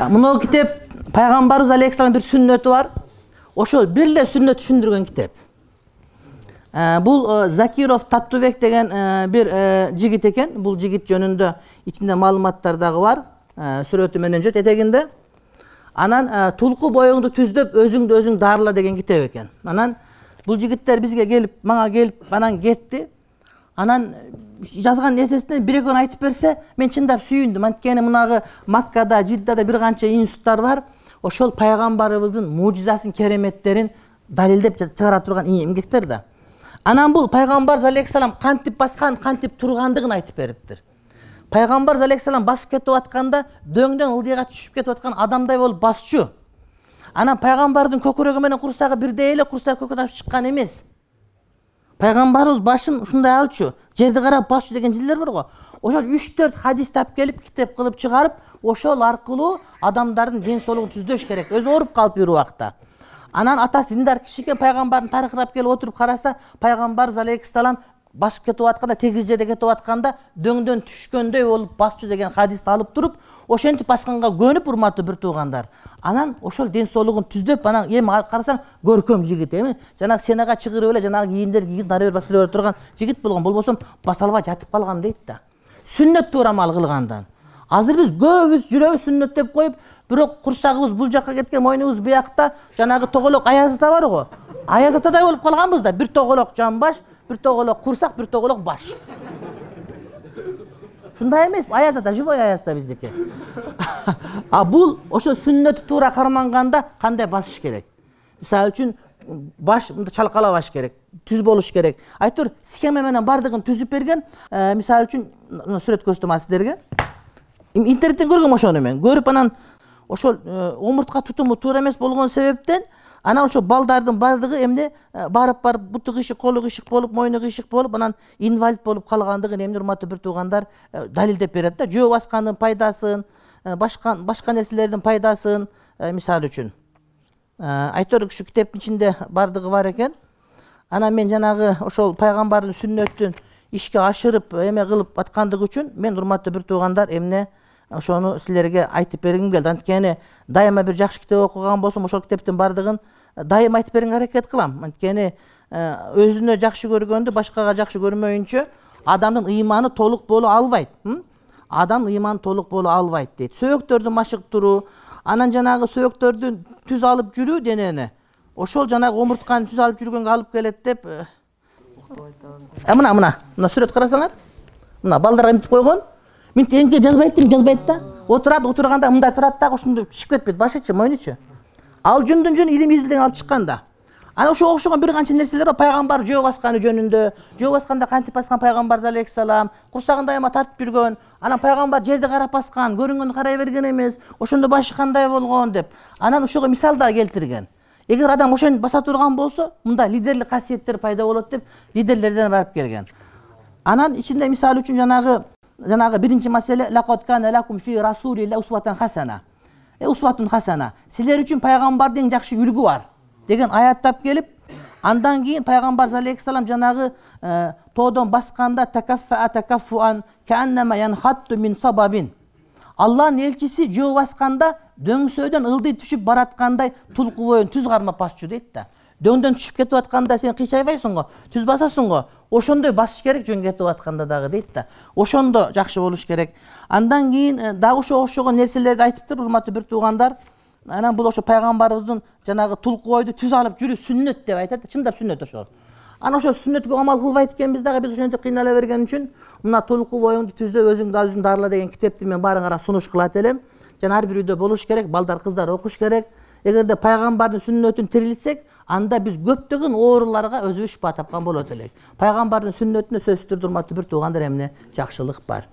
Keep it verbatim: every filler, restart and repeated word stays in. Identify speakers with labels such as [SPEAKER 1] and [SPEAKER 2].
[SPEAKER 1] Мына китеп пайгамбарыбыз алейхиссалам бир сүннөтү бар. Ошол бир эле сүннөт түшүндүргөн китеп. Бул Закиров Таттубек деген бир жигит экен. Бул жигит жөнүндө ичинде маалыматтар дагы бар. Сүрөтү менен жөт этегинде. Анан тулку боюңду түздөп өзүңдү өзүң дарыла деген китеп экен. Анан бул жигиттер бизге келип, мага келип, анан кетти. Анан жазган нерсесинен бир экөөнү айтып берсе, мен чындап сүйүндүм. Анткени мунагы Маккада, Жиддада бир канча институттар бар. Ошол пайгамбарыбыздын мужизасын, кереметтерин далилдеп чыгара турган эмгектер да. Анан бул пайгамбар алейхиссалам кантип баскан, кантип тургандыгын айтып бериптир. Пайгамбар алейхиссалам басып кетип атканда дөңдөн ылдыйга түшүп кетип аткан адамдай болуп басчу. Анан пайгамбардын көкүрөгү менен курсагы бирдей эле, курсагы көкүрөк чыккан эмес. Пайгамбарыбыз башын ушундай алчу, жерди карап басчу деген жилдер бар го. Ошол үч төрт хадис тап келип, китеп кылып чыгарып, ошол аркылуу адамдардын ден соолугун түздөш керек. Өзү ооруп калып бир убакта. Анан атасы диндар киши экен, пайгамбардын тарыхырап келип отуруп караса, пайгамбарыбыз алейхиссалам басып кетип атканда, тегиз жерде кетип атканда дөңдөн түшкөндөй болуп басчу деген хадисти алып туруп, ошентип басканга көнүп, урматтуу бир туугандар. Анан ошол ден соолугун түздөп, анан эми карасаң көркөм жигит эми. Жанагы сенага чыгырып эле жанагы кийимдер кийгиз нары бер басып бере турган жигит болгон. Болбосо баса албай жатып калгам дейт да. Сүннөт турамал кылгандан. Азыр биз көбүбүз жүрөбүз сүннөт деп коюп, бирок курсагыбыз бул жакка кеткен, мойнубуз буякта, жанагы тоголок Аяз ата бар го. Аяз атадай болуп калганбыз да. Бир тоголок жамбаш, бир тоголок курсак, бир тоголок баш. Шундай эмес, Аяз ата, живой Аяз ата биздики. А бул ошо сүннөтү туура карманганда кандай басыш керек? Мисалы үчүн баш мындай чалкалабаш керек, түз болуш керек. Айтор схема менен бардыгын түзүп берген. Мисалы үчүн сүрөт көрсөтөм сиздерге. Интернеттен көргөм ошону мен. Көрүп анан ошол омуртка тутуму туура эмес болгон себептен анан ошо балдардын бардыгы эмне барып барып буту кыйшык, колу кыйшык болуп, мойну кыйшык болуп, анан инвалид болуп калгандыгын эмне урматтуу бир туугандар далилдеп берет да. Жөө баскандын пайдасын, башка башка нерселердин пайдасын, мисалы үчүн. Айтор ушу китептин ичинде бардыгы бар экен. Анан мен жанагы ошол пайгамбардын сүннөтүн ишке ашырып, эме кылып аткандыгы үчүн мен урматтуу бир туугандар эмне ошону силерге айтып бергим келди. Анткени дайыма бир жакшы китеп окуган болсом, ошол китептин бардыгын дайыма айтып бергенге аракет кылам. Анткени өзүнө жакшы көргөндү башкага жакшы көрмөйүнчө адамдын ыйманы толук боло албайт. Адам ыйманы толук боло албайт дейт. Сөөктөрдү машык туруу, анан жанагы сөөктөрдүн түз алып жүрүү денени. Ошол жанагы омуртканы түз алып жүргөнгө алып келет деп. Э мына мына, мына сүрөт карасаңар. Мына балдарга эмтип койгон. Мен теңге жазбайт дейм, жазбайт да. Отурат, отурганда мындай турат да, ошондой чыгып кетпейт, башычы, мойнучу. Ал жүндүн жөнү илим изилден алып чыккан да. Ана ошого окшогон бир канча нерселер бар. Пайгамбар жөө басканы жөнүндө, жөө басканда кантип баскан пайгамбар алейхиссалам, курсагын дайыма тартып жүргөн, анан пайгамбар жерди карап баскан, көрүнгөндү карай берген эмес, ошондо башы кандай болгон деп. Анан ошого мисал да келтирген. Эгер адам ошентип баса турган болсо, мында лидерлик касиеттер пайда болот деп лидерлерден барып келген. Анан ичинде мисалы үчүн жанагы жанагы биринчи маселе лaqad kana lakum fi rasulillahi uswatun hasana. Э усватун хасана. Силер үчүн пайгамбардын жакшы үлгү бар деген аят тап келип, андан кийин пайгамбар алейхиссалам жанагы тоодон басканда такаффа такаффуан кааннама янхатту мин сабабин. Аллахтын элчиси жөө басканда дөңсөөдөн ылдый түшүп бараткандай тулку боюн түз кармап басчу дейт да. Дөңдөн түшүп кетип атканда сен кыйшайбайсың го, түз басасың го. Ошондой басыш керек жөн кетип атканда дагы дейт да. Ошондо жакшы болуш керек. Андан кийин дагы ошо окшогон нерселерди айтыптыр, урматтуу бир туугандар. Анан бул ошо пайгамбарыбыздын жанагы тулку бойду түз алып жүрүү сүннөт деп айтат. Чындап сүннөт ошол. Ана ошо сүннөткө амал кылбайт экенбиз дагы, биз ошентип кыйнала берген үчүн мына тулку боюңду түздөп өзүңдү өзүң дарыла деген китепти мен баарыңарга сунуш кылат элем. Жана ар бир үйдө болуш керек, балдар, кыздар окуш керек. Эгерде пайгамбардын сүннөтүн тирилтсек, анда биз көптөгөн ооруларга өзүбүз шифа тапкан болот элек. Пайгамбардын сүннөтүнө сөзсүз түрдө урматтуу бир туугандар эмне жакшылык бар.